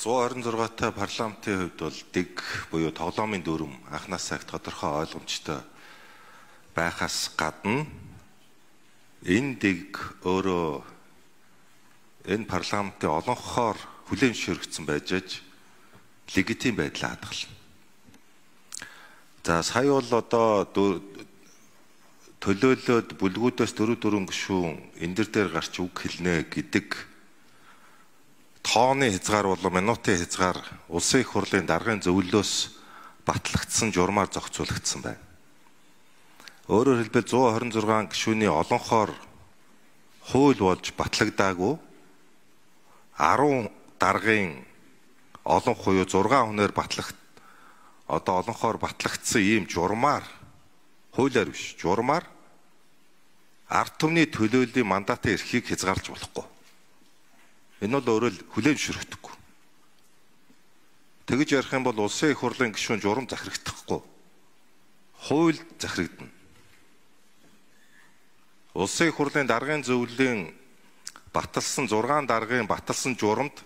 126-та парламентын хувьд бол дэг буюу тоглоомын дүрм анхнаасаа их тодорхой ойлгомжтой байхаас гадна энэ дэг өөрөө энэ парламентын олонхоор хүлээн зөвшөөрөгдсөн байж легитим байдлаа хадгална. За сая бол одоо төлөөлөд бүлгүүдээс 4 гишүүн энэ дээр гарч үг хэлнэ гэдэг тооны хязгаар болон минутын хязгаар улсын их хурлын даргын зөвлөлөөс батлагдсан журмаар зохицуулагдсан байна. Өөрөөр хэлбэл 126 гишүүний олонхоор хууль болж батлагдаагүй 10 даргын олон хуйуу 6 хүнээр одоо олонхоор батлагдсан ийм журмаар хуулиар биш журмаар ард түмний төлөөллийн мандатын эрхийг хязгаарлаж болохгүй. Энэ бол өөрөө л хүлээн зөвшөөрөгдөхгүй. Тэгж ярих юм бол улсын их хурлын гишүүн журам захирагдахгүй. Хууль захирагдана. Улсын их хурлын даргын зөвлөлийн баталсан 6 даргын баталсан журамд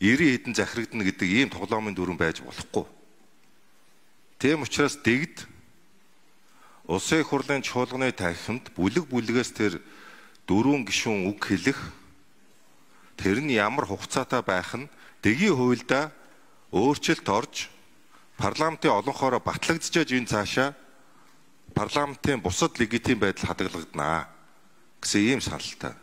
90 хэдэн захирагдана гэдэг ийм тоглоомын дүрм байж болохгүй. Тийм учраас дэгд улсын их хурлын чуулганы танхимд бүлэгээс тэр 4 гишүүн үг хэлэх тэр нь ямар хугацаатай байх нь дэгийн хуульдаа өөрчлөлт орж парламентын олонхоороо батлагдчихаж энэ цаашаа парламентын бусад легитим байдал хадгалагдана гэсэн ийм саналтай.